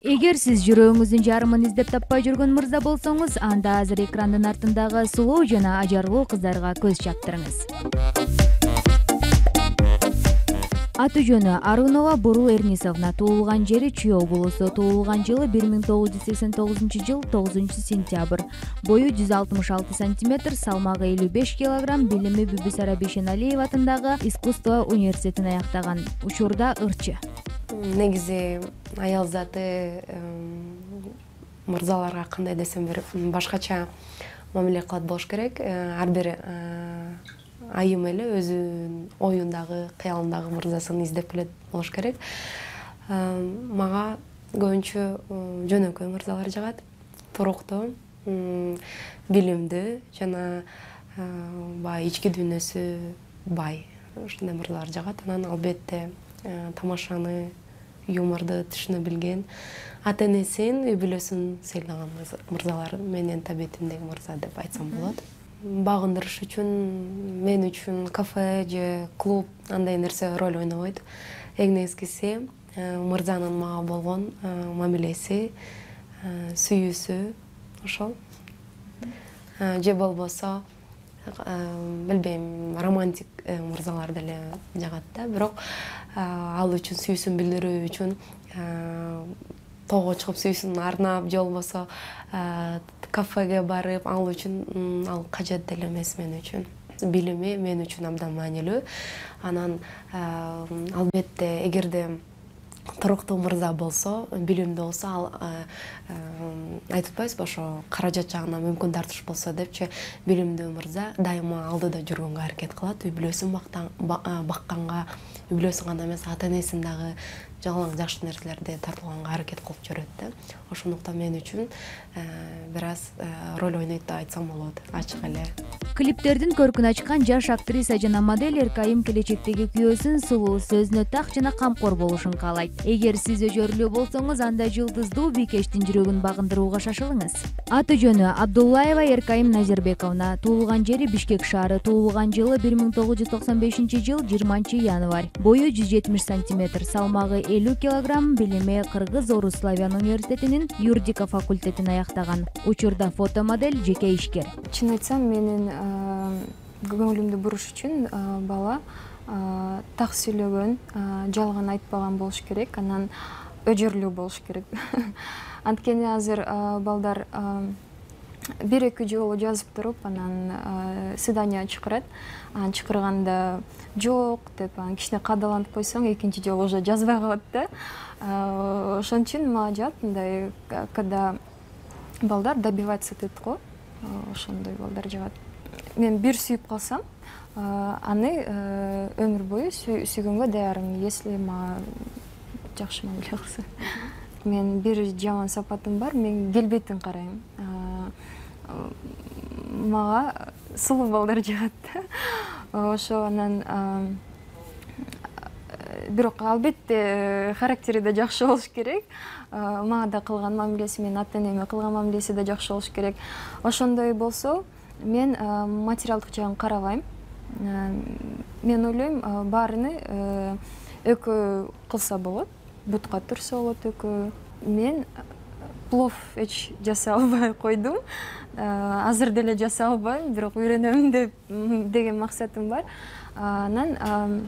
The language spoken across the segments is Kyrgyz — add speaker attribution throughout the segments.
Speaker 1: Эгер сиз жүрөгүңүздүн жарымын издеп таппай жүргөн мырза болсоңуз, анда азыр экрандын артындагы сулуу жана ажарлуу кыздарга көз чаптырыңыз. Аты жөнү Арунова Буру Эрнисовна, туулган жери Чүй облусу, туулган жылы 1989 жыл 9 сентябрь. Бою 166 сантиметр, салмагы 55 килограмм, билими Бүбүсара Бейшеналиева атындагы искусство университетин аяктаган. Учурда ырчы.
Speaker 2: Негизи аял заты мырзаларга кандай десем бир башкача мамиле кылат болуш керек. Ар бир айым эле өзүнүн оюндагы, кыялындагы мырзасын издеп келет болуш керек. Мага көбүнчө жөнөкөй мырзалар жагат. Туруктуу, билимдүү жана бай ички дүйнөсү бай. Ушундай мырзалар жагат. Анан албетте тамашаны, юморду түшүнө билген, ата-энесин, үй бүлөсүн сыйлаган мырзалар менин табиетимдеги мырза деп айтсам болот. Багындырыш үчүн мен үчүн кафе же клуб андай нерсе роль ойнобойт. Эң негизгиси мырзанын мага болгон мамилеси, сүйүүсү ошол. Же болбосо билбейм, романтик мырзалар деле жагат да, бирок ал үчүн сүйүүсүн билдирүү үчүн тоого чыгып сүйүүсүн арнап, же болбосо кафеге барып, ал үчүн ал кажет деле эмес мен үчүн. Билими мен үчүн абдан маанилүү. Анан албетте эгерде туруктуу мырза болсо, билимдүү болсо, ал айтып атпайбызбы, ошо каражат жагынан мүмкүн тартыш болсо депчи, билимдүү мырза дайыма алдыда жүргөнгө аракет кылат, үй бүлөсүн бакканга, үй бүлөсүн гана эмес, ата-энесин дагы жалаң жакшы нерселерди тартылганга аракет кылып жүрөт да. Ошондуктан мен үчүн бир аз роль ойнойт деп айтсам болот, ачык эле.
Speaker 1: Клиптердин көркүн ачкан жаш актриса жана модель Эркайым келечектеги күйөөсүн сулуу, сөзүнө так жана камкор болушун каалайт. Эгер сиз өжөрлүү болсоңуз, анда жылдыздуу бийкештин жүрөгүн багындырууга шашылыңыз. Аты жөнү Абдуллаева Эркайым Назирбековна, туулган жери Бишкек шаары, туулган жылы 1995 жыл 20 январь. Бою 170 сантиметр, салмагы 50 килограмм, билими Кыргыз-Орус славян университетинин юридика факультетин аяктаган. Учурда фотомодель, жеке ишкер.
Speaker 3: Чын айтсам, менин көңүлүмдү буруш үчүн бала так сүйлөгөн, жалган айтпаган болуш керек, анан өжөрлүү болуш керек. Анткени азыр балдар бир-эки жолу жазып туруп, анан свидание чакырат. Анан чакырганда жок деп, кичине кадаланып койсоң, экинчи жолу уже жазбай калат да. Ошон үчүн мага жат мындай, когда балдар добиваться этет го, ошондой балдар жагат. Мен бир сүйүп калсам, аны өмүр бою сүйгөнгө даярмын, если мага жакшы мамиле кылса. Мен бир жаман сапатым бар, мен келбетин карайм. Мага сулуу балдар жагат да. Ошо анан бирок албетте характери да жакшы болуш керек. Мага да кылган мамилеси, мен ата-энеме кылган мамилеси да жакшы болуш керек. Ошондой болсо, мен материалдык жагын карабайм. Мен ойлойм, баарыны экөө кылса болот, бутка турса болот экөө. Мен плов эч жасай албай койдум. Азыр деле жасай албайм, бирок үйрөнөм деген максатым бар. Анан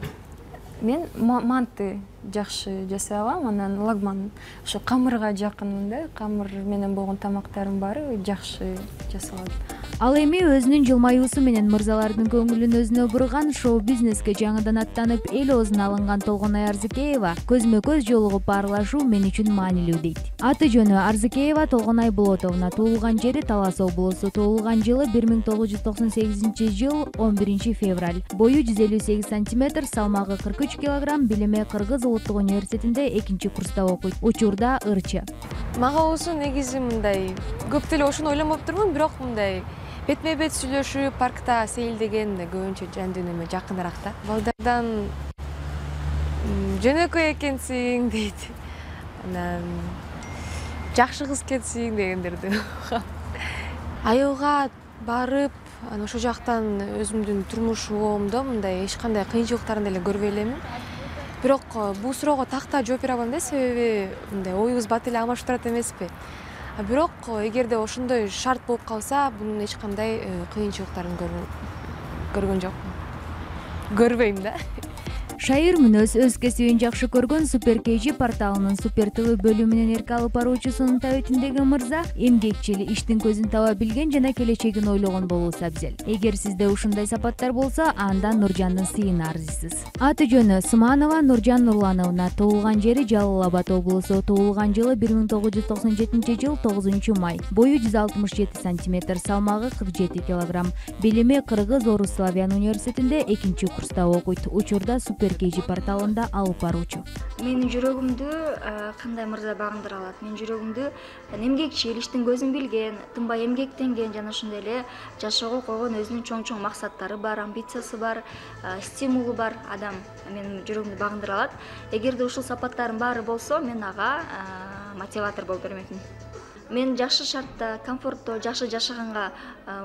Speaker 3: мен манты жакшы жасай алам, анан лагман ошо камырга жакынмын да, камыр менен болгон тамактарым баары жакшы жасалат.
Speaker 1: Ал эми өзүнүн жылмаюусу менен мырзалардын көңүлүн өзүнө бурган, шоу-бизнеске жаңыдан аттанып, эл оозуна алынган Толгонай Арзыкеева көзмө-көз жолугуп баарлашуу мен үчүн маанилүү дейт. Аты жөнү Арзыкеева Толгонай Болотовна, туулган жери Талас облусу, туулган жылы 1998 жыл 11 февраль. Бою 158 сантиметр, салмагы 43 килограмм, билими Кыргыз улуттук университетинде 2-курста окуйт. Учурда ырчы.
Speaker 4: Мага болсо негизи мындай, көп деле ошону ойлонуптурмун, бирок мындай бетме-бет сүйлөшүп, паркта сейилдеген көбүнчө жан дүйнөмө жакыныраак да. Балдардан жөнөкөй экенсиң дейт. Анан жакшы кыз экенсиң дегендерди. Айылга барып, ошо жактан өзүмдүн турмушумда мындай эч кандай кыйынчылыктарын деле көрбөй элемин. бирок бул суроого такта жооп бере албайм да, себеби мындай оюбуз бат эле алмашып турат эмеспи. Бирок эгерде ошондой шарт болуп калса, бунун эч кандай кыйынчылыктарын көргөн жокмун. Көрбөйм да.
Speaker 1: Шайыр мүнөз өз кесибин жакшы көргөн Супер KG порталынын Супер ТВ бөлүмүнүн эрке алып баруучусунун табитиндеги мырза эмгекчил, иштин көзүн таба билген жана келечегин ойлогон болуусу абзел. Эгер сизде ушундай сапаттар болсо, анда Нуржандын сыйына арзисиз. Аты жөнү Сманова Нуржан Нурлановна, туулган жери Жалал Абад облусу, туулган жылы 1997 жыл 9 май, бою 167 сантиметр, салмагы 47 килограмм, билими Кыргыз Орус Славян университетинде 2-курста окуйт. Учурда Супер KG порталында алып баруучу.
Speaker 5: Менин жүрөгүмдү кандай мырза багындыра алат? Менин жүрөгүмдү эмгекчил, иштин көзүн билген, тынбай эмгектенген жана ошондой эле жашоого койгон өзүнүн чоң максаттары бар, амбициясы бар, стимулу бар адам менин жүрөгүмдү багындыра алат. Эгерде ушул сапаттардын баары болсо, мен ага мотиватор болуп бермекмин. Мен жакшы шартта, комфортто, жакшы жашаганга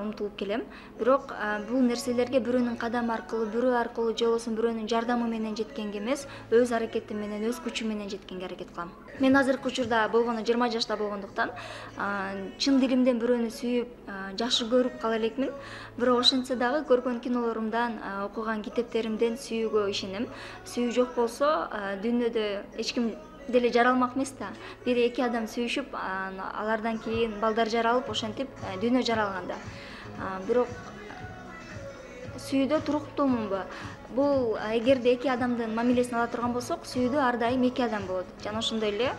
Speaker 5: умтулуп келем. Бирок бул нерселерге бирөөнүн кадамы аркылуу, бирөө аркылуу же болбосо бирөөнүн жардамы менен жеткенге эмес, өз аракетим менен, өз күчүм менен жеткенге аракет кылам. Мен азыркы учурда болгону 20 жашта болгондуктан, чын дилимден бирөөнү сүйүп, жакшы көрүп кала элекмин. Бирок ошентсе дагы көргөн кинолорумдан, окуган китептеримден сүйүүгө ишенем. Сүйүү жок болсо, дүйнөдө эч ким деле жаралмак эмес да. 1-2 адам сүйүшүп, алардан кийин балдар жаралып, ошентип дүйнө жаралган да. Бирок сүйүүдө туруктуумунбу? Бул эгерде 2 адамдын мамилесин ала турган болсок, сүйүүдө ар дайым 2 адам болот. Жана ошондой эле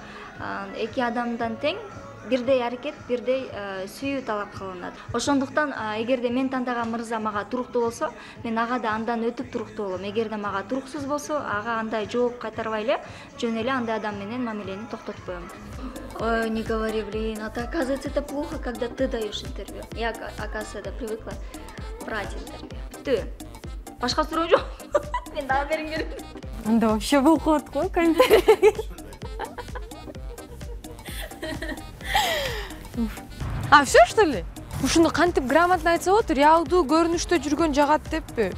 Speaker 5: 2 адамдан тең бирдей аракет, бирдей сүйүү талап кылынат. Ошондуктан эгерде мен тандаган мырза мага туруктуу болсо, мен ага да андан өтүп туруктуу болом. Эгерде мага туруксуз болсо, ага андай жооп кайтарбай эле, жөн эле андай адам менен мамилени токтотуп коем. Ой, не говори, блин, оказывается, это плохо, когда ты даешь интервью. Я, оказывается, привыкла брать интервью. Ты, башка суроо жок. Мен дагы бериң керек.
Speaker 3: Анда вообще болуп калат го комментарий.
Speaker 4: Все что ли? Ушуну кантип грамотно айтса болот, реалдуу көрүнүштө жүргөн жагат деппи?